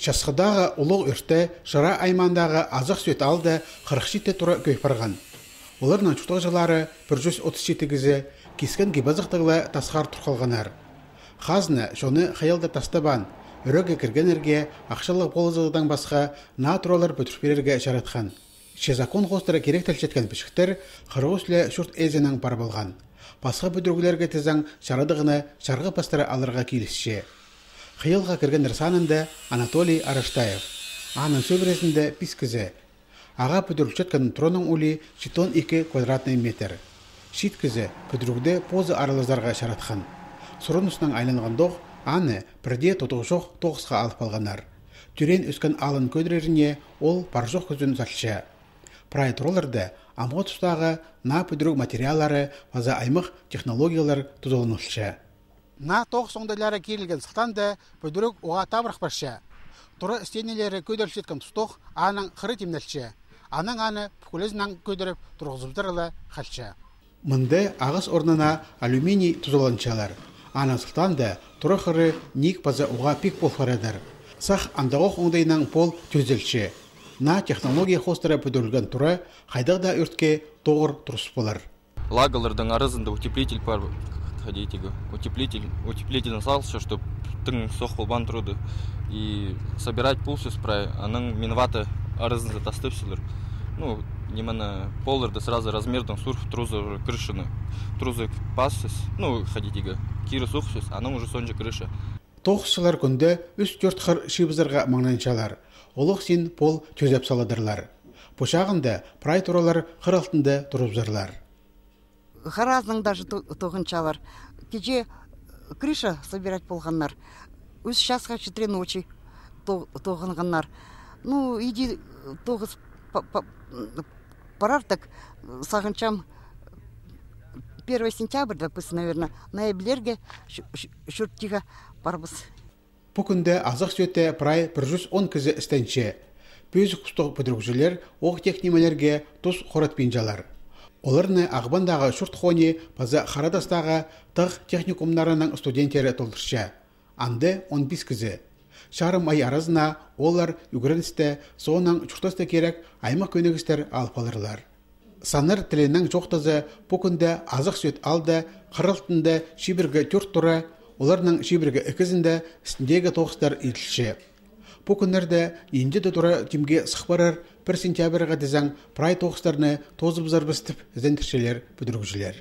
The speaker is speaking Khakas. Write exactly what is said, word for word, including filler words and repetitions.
Часхыдағы улуғ ӧрте Шира аймаандағы Азах Сӧӧт аалда хырых читі тура кӧй парған. Оларның чуртағҷылары пір чӱс отыс читі кізі кискен кип-азахтығ ла тасхар тур халғаннар. Хазна чонны хайалда тастабаан, ӧреге кіргеннерге ахчалығ полызығдаң пасха наа туралар пӱдіріп пирерге чаратхан. Че закон хоостыра киректелчеткен пічіктер хырых ӱс ле чурт ээзінең пар полған. Пасха пӱдіріглерге тізең чарадығны чарғы пастыра аларға килісче. Хайалға кіргеннер санында Анатолий Араштаев. Аның сӧбірезінде пис кізі. Ағаа пӱдірілчеткен тураның улии читон ікі квадратный метр. Чиит кізі пӱдірігде позы аралазарға чаратхан. Сурыныснаң айланғандох, аны пірдее тудығ чох тоғысха алып алғаннар. Тӧреен-ӧскен аалын кӧдіреріне ол пар-чох кӱзін салча. Прай тураларда амғы тустағы наа пӱдіріг материаллары паза аймах технологиялар тузаланылча. Наа тоғыс оңдайлары кирілген сылтаанда пӱдіріг уғаа табырах парча. Тура стенелері кӧдірілчеткен тустох аның хыры тимнелче. Анаң аны пӱкӱлезінең кӧдіріп турғызыбызар ла халча. Мында ағас орнына алюминий тузаланчалар. Аның сылтаанда тура хыры ниик паза уғаа пик пол парадыр. Сах андағох оңдайнаң пол тӧзелче. Наа технология хоостыра пӱдірілген тура хайдағ даа ӧртке тоғыр турыс полар. Лагаларның аразында утеплитель пар, хайди тигі, утеплитель, утеплительні салча, чтоб тың сох полбаан турады. И собирать полчабыс прай, анаң минвата аразында тастапчалар. Ну, нимені, полларды сразу размердең сурып, трузы, крышаны, трузы пасчабыс, ну, хайди тигі, кире суғыпчабыс, анаң уже соонҷа крыша. Тоғысчылар кӱнде ӱс-тӧрт хыр чыыбызарға маңнанчалар. Олох син пол тӧзеп саладырлар. Пу чағында прай туралар хыр алтында турыбызарлар. Харазынаң даже то-, тоғынчалар. Кичее крыша собирать полғаннар. Ӱс часха читіре ночи то-, тоғынғаннар. Ну, иди тоғыс па-, па-, парар тик, сағынчам, первое сентябрьда піс, наверное, ноябрьге чу-, чу-, чуртирға парбыс. Пу кӱнде Азах Сӧӧтте прай пір чӱс он кізі істенче. Пӧзік пустығ пӱдірігҷілер оох-тех нимелерге тус хоратпинчалар. Оларны Ағбандағы чурт хони паза Харатастағы тағ техникумнарының студенттері толдырча. Анда он пис кізі. Чарым ай аразына олар ӱгреністі, соонаң чуртаста кирек аймах кӧнігістер алып аларлар. Саннар тілінең чоохтаза, пу кӱнде Азах Сӧӧт аалда хыр алтында чибіргі тӧрт тура, оларның чибіргі ікізінде істіндегі тоғыстар иділче. Пу кӱннерде нинҷе-де тура тимге сых парар, пір сентябрьға тізең прай тоғыстарны тоозыбызарбыс тіп ізендірчелер пӱдірігҷілер.